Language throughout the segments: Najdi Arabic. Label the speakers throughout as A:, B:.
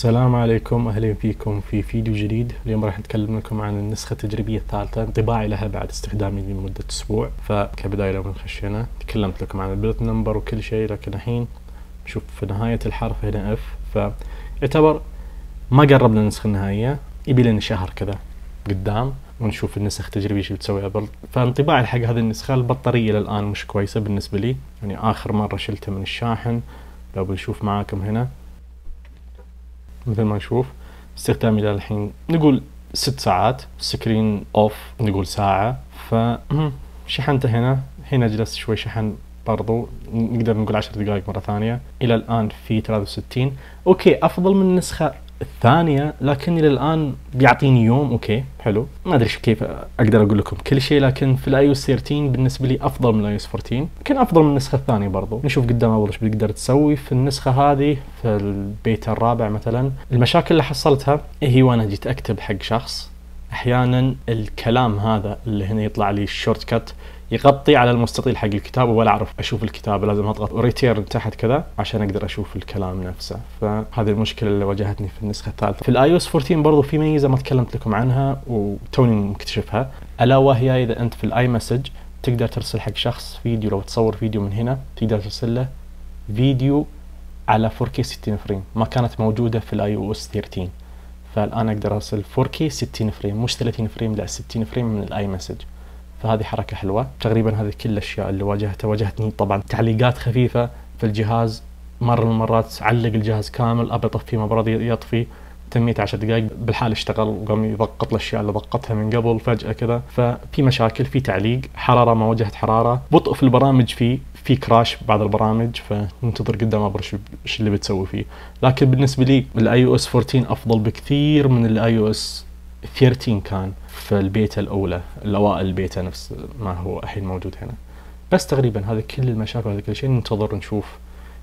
A: السلام عليكم، أهلا فيكم في فيديو جديد. اليوم راح نتكلم لكم عن النسخة التجريبية الثالثة، انطباعي لها بعد استخدامي لمدة أسبوع. فكبداية لو خشينا تكلمت لكم عن البلت نمبر وكل شيء، لكن الحين نشوف في نهاية الحرف هنا اف، فيعتبر ما قربنا النسخة النهائية، يبي لنا شهر كذا قدام ونشوف النسخ التجريبية شو بتسوي قبل. فانطباعي حق هذه النسخة، البطارية للآن مش كويسة بالنسبة لي، يعني آخر مرة شلتها من الشاحن. لو بنشوف معاكم هنا مثل ما نشوف استخدامي للحين نقول 6 ساعات، سكرين اوف نقول ساعة. شحنته هنا جلست شوي شحن برضو، نقدر نقول 10 دقائق مرة ثانية. إلى الآن في 63، أوكي أفضل من النسخة الثانية، لكن إلى الآن بيعطيني يوم. أوكي حلو، ما أدري كيف أقدر أقول لكم كل شيء، لكن في الآي او اس 13 بالنسبة لي أفضل من الآي او اس 14، يمكن أفضل من النسخة الثانية برضو. نشوف قدام أول إيش بتقدر تسوي في النسخة هذه. في البيتا الرابع مثلا، المشاكل اللي حصلتها هي وأنا جيت أكتب حق شخص، أحيانا الكلام هذا اللي هنا يطلع لي الشورت كات يغطي على المستطيل حق الكتابة، ولا أعرف أشوف الكتابة، لازم أضغط ريتيرن تحت كذا عشان أقدر أشوف الكلام نفسه. فهذه المشكلة اللي واجهتني في النسخة الثالثة. في الآي او اس 14 برضو في ميزة ما تكلمت لكم عنها وتوني مكتشفها، ألا وهي إذا أنت في الآي مسج تقدر ترسل حق شخص فيديو، لو تصور فيديو من هنا تقدر ترسل له فيديو على 4K 60 فريم، ما كانت موجودة في الآي او اس 13. فالآن أقدر أرسل 4K 60 فريم، مش 30 فريم، لا 60 فريم من الآي مسج. فهذه حركة حلوة. تقريبا هذه كل الأشياء اللي واجهتني. طبعا تعليقات خفيفة في الجهاز، مرة من المرات علق الجهاز كامل، أبي أطفيه ما برضى يطفي، تميت 10 دقائق بالحال اشتغل وقام يضغط الأشياء اللي ضغطتها من قبل فجأة كذا. ففي مشاكل، في تعليق، حرارة ما واجهت حرارة، بطء في البرامج، في كراش بعض البرامج، فننتظر قدام أبرش إيش اللي بتسوي فيه. لكن بالنسبة لي الاي او اس 14 أفضل بكثير من الاي او اس 13 كان في البيتا الأولى، الأوائل البيتا نفس ما هو الحين موجود هنا. بس تقريبا هذه كل المشاكل وهذا كل شيء. ننتظر نشوف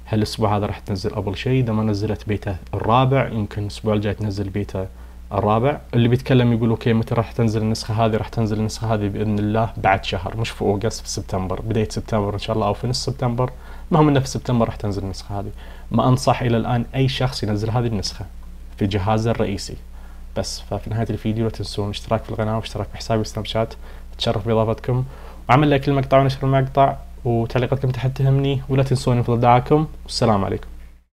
A: هل الأسبوع هذا راح تنزل أول شيء. إذا ما نزلت بيتا الرابع يمكن الأسبوع الجاي تنزل بيتا الرابع. اللي بيتكلم يقول أوكي متى راح تنزل النسخة هذه؟ راح تنزل النسخة هذه بإذن الله بعد شهر، مش في أوغست، في سبتمبر، بداية سبتمبر إن شاء الله، أو في نص سبتمبر. المهم إنه في سبتمبر راح تنزل النسخة هذه. ما أنصح إلى الآن أي شخص ينزل هذه النسخة في جهازه الرئيسي. بس ففي نهاية الفيديو لا تنسون الاشتراك في القناة واشتراك في حسابي سناب شات، تشرف بإضافتكم، وعمل لايك للمقطع ونشر المقطع، وتعليقاتكم تحت تهمني، ولا تنسون يفضل دعاكم، والسلام عليكم.